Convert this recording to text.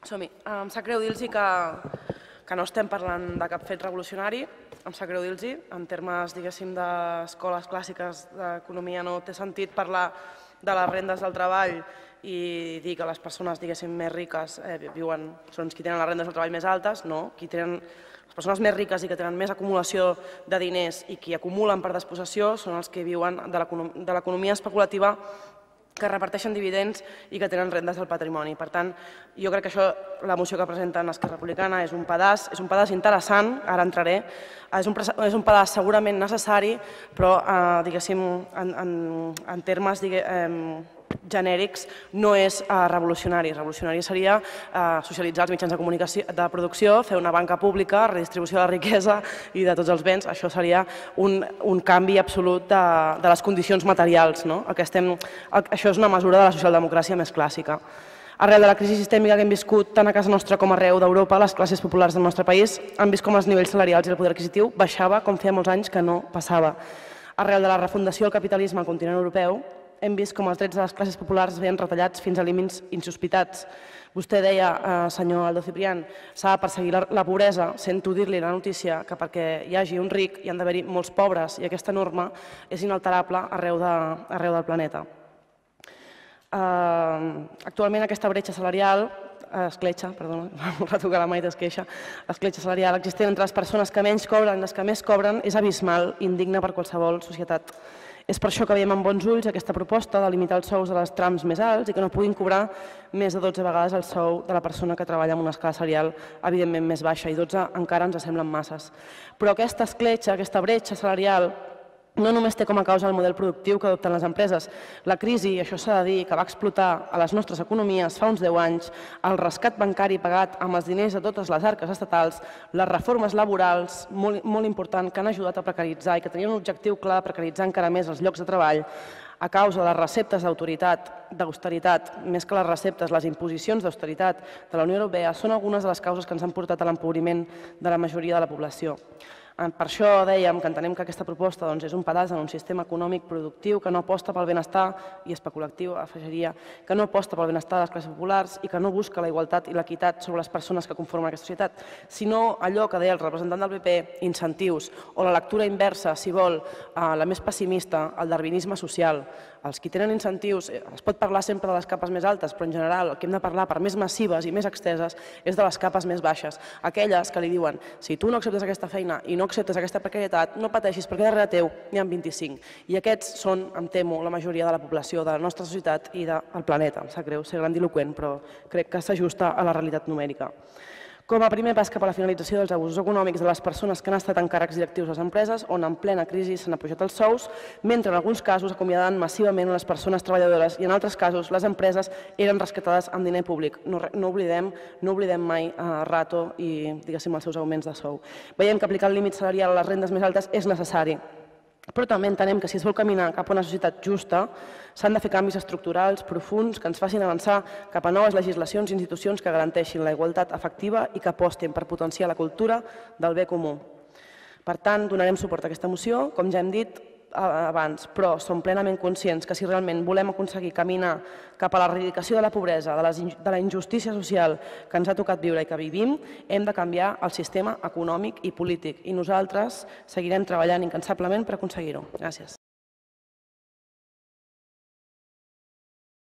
Som-hi. Em sap greu dir-los que no estem parlant de cap fet revolucionari. Em sap greu dir-los, en termes, diguéssim, d'escoles clàssiques d'economia no té sentit parlar de les rendes del treball i dir que les persones, diguéssim, més riques són qui tenen les rendes del treball més altes. No, les persones més riques i que tenen més acumulació de diners i qui acumulen per despossessió són els que viuen de l'economia especulativa, que reparteixen dividends i que tenen rendes del patrimoni. Per tant, jo crec que això, la moció que presenten Esquerra Republicana és un pedaç interessant, ara entraré, és un pedaç segurament necessari, però, diguéssim, en termes genèrics no és revolucionari. Revolucionari seria socialitzar els mitjans de comunicació de producció, fer una banca pública, redistribució de la riquesa i de tots els béns. Això seria un canvi absolut de les condicions materials. Això és una mesura de la socialdemocràcia més clàssica. Arrel de la crisi sistèmica que hem viscut tant a casa nostra com arreu d'Europa, les classes populars del nostre país han vist com els nivells salarials i el poder adquisitiu baixava com feia molts anys que no passava. Arrel de la refundació del capitalisme al continent europeu, hem vist com els drets de les classes populars es veien retallats fins a límits insospitats. Vostè deia, senyor Aldo Ciprián, s'ha de perseguir la pobresa. Sento dir-li la notícia que perquè hi hagi un ric hi han d'haver-hi molts pobres i aquesta norma és inalterable arreu del planeta. Actualment aquesta bretxa salarial, escletxa, perdona, retocar la meitat esqueixa, l'escletxa salarial existent entre les persones que menys cobren i les que més cobren és abismal, indigna per qualsevol societat. És per això que veiem amb bons ulls aquesta proposta de limitar els sous a les trams més alts i que no puguin cobrar més de 12 vegades el sou de la persona que treballa en una escala salarial evidentment més baixa, i 12 encara ens semblen masses. Però aquesta escletxa, aquesta bretxa salarial, no només té com a causa el model productiu que adopten les empreses. La crisi, i això s'ha de dir, que va explotar a les nostres economies fa uns 10 anys, el rescat bancari pagat amb els diners de totes les arques estatals, les reformes laborals, molt important, que han ajudat a precaritzar i que tenien un objectiu clar de precaritzar encara més els llocs de treball, a causa de les receptes d'austeritat, més que les receptes, les imposicions d'austeritat de la Unió Europea, són algunes de les causes que ens han portat a l'empobriment de la majoria de la població. Per això dèiem que entenem que aquesta proposta és un pedaç en un sistema econòmic productiu que no aposta pel benestar i especulatiu, afegiria, que no aposta pel benestar de les classes populars i que no busca la igualtat i l'equitat sobre les persones que conformen aquesta societat, sinó allò que deia el representant del PP, incentius, o la lectura inversa, si vol, la més pessimista, el darwinisme social. Els qui tenen incentius, es pot parlar sempre de les capes més altes, però en general el que hem de parlar per més massives i més exteses és de les capes més baixes, aquelles que li diuen si tu no acceptes aquesta feina i no acceptes aquesta precarietat, no pateixis perquè darrere teu n'hi ha 25. I aquests són, em temo, la majoria de la població de la nostra societat i del planeta. Em sap greu ser grandiloqüent, però crec que s'ajusta a la realitat numèrica. Com a primer pas cap a la finalització dels abusos econòmics de les persones que han estat en càrrecs directius a les empreses, on en plena crisi s'han apujat els sous, mentre en alguns casos acomiadant massivament les persones treballadores i en altres casos les empreses eren rescatades amb diner públic. No oblidem mai Rato i, diguéssim, els seus augments de sou. Veiem que aplicar el límit salarial a les rendes més altes és necessari, però també entenem que si es vol caminar cap a una societat justa s'han de fer canvis estructurals profunds que ens facin avançar cap a noves legislacions i institucions que garanteixin la igualtat efectiva i que apostin per potenciar la cultura del bé comú. Per tant, donarem suport a aquesta moció, com ja hem dit abans, però som plenament conscients que si realment volem aconseguir caminar cap a l'erradicació de la pobresa, de la injustícia social que ens ha tocat viure i que vivim, hem de canviar el sistema econòmic i polític i nosaltres seguirem treballant incansablement per aconseguir-ho. Gràcies.